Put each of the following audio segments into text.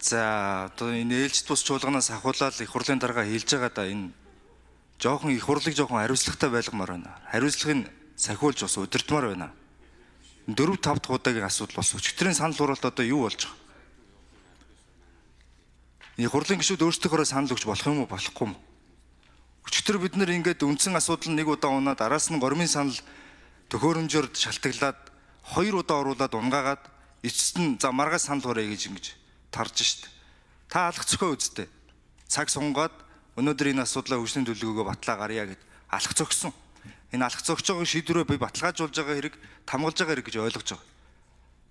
За одоо энэ ээлжид бус чуулганаас ахуулаад их хурлын дарга хэлж байгаа да энэ жоохон их хурлыг жоохон хариуцлагатай байлгамаар байна. Хариуцлагыг сахиулж бас удирдмаар байна. 4-5 дахь удаагийн асуудал бас өчигдрийн санал хураалт одоо юу болж байгаа? Их хурлын гишүүд өөрсдийнхөө санал өгч болох юм уу болохгүй юм? Өчигдөр бид нэр ингээд үндсэн асуудал нэг удаа унаад араас нь гормын санал төхөөрөмжөөр шалтгаглаад 2 удаа оруулаад унгаагаад эцэст нь за маргаас санал хураая гэж тарж штт. Та алах зохио үздэй. Цаг сунгаад өнөөдөр энэ асуудлаа хөгжлийн төлөвлөгөөгөө батлаа гарья гэд алах зогсон. Энэ алах зогсож байгаа шийдвэрээ би баталгаажуулж байгаа хэрэг, тамгалж байгаа хэрэг гэж ойлгож байгаа.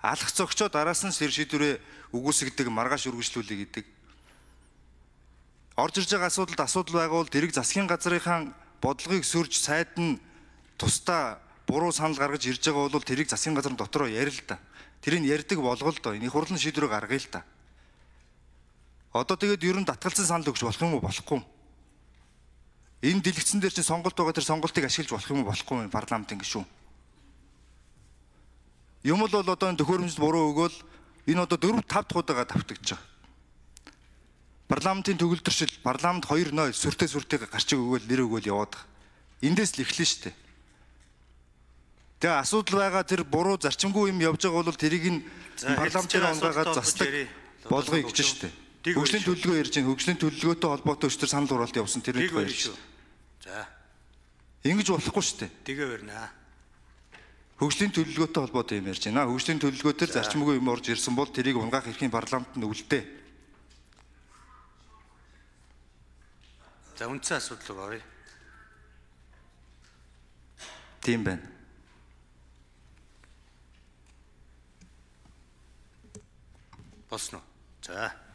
Алах зогсоод араас нь шийдвэрээ үгүйсгдэг, маргааш үргэлжлүүлэх гэдэг. Орж ирж байгаа асуудалд асуудал байгаа бол тэрэг засгийн газрынхаа бодлогыг сөрж сайд нь тусдаа буруу санал гаргаж ирж байгаа бол тэрийг засгийн газрын дотроо ярил л да. Тэрийг ярьдаг болгол доо. Энэ их хурлын шийдвэрээ гаргая л да. Одоо тэгээд ер нь татгалзсан санал өгч болох юм уу болохгүй юм? Энэ дэлгэцэн дээр чинь сонголт байгаа, тэр сонголтыг ашиглаж болох юм уу болохгүй юм парламентын гишүүн. Юм л бол одоо энэ төхөөрөмжөд буруу өгөөл энэ одоо 4-5 дахь удаага давтагдж байгаа. Парламентын төгөлдршил, парламент 2-0 сүртэй гарчиг өгөөл нэр өгөөл яваад байгаа. Эндээс л эхлэн штэ. Тэгээ асуудал байгаа тэр буруу зарчимгүй юм явж байгаа бол тэрийг нь парламентын унгаагаад застдаг болгоё гэж штэ. Хөгжлийн төлөвлөгөө ярьж байна. Хөгжлийн төлөвлөгөөтэй холбоотой өчтөр санал хураалт явуулсан тэрийг баярлалаа. За. Ингэж болохгүй шүү дээ. Тэгээ барина. Хөгжлийн төлөвлөгөөтэй холбоотой юм ярьж байна. Хөгжлийн төлөвлөгөөтөр зарчимгүй юм орж ирсэн бол тэрийг унгаах эрхийн парламентд үлдээ. За үндсэн асуудал руу оръё. Тийм байна. Босно. За.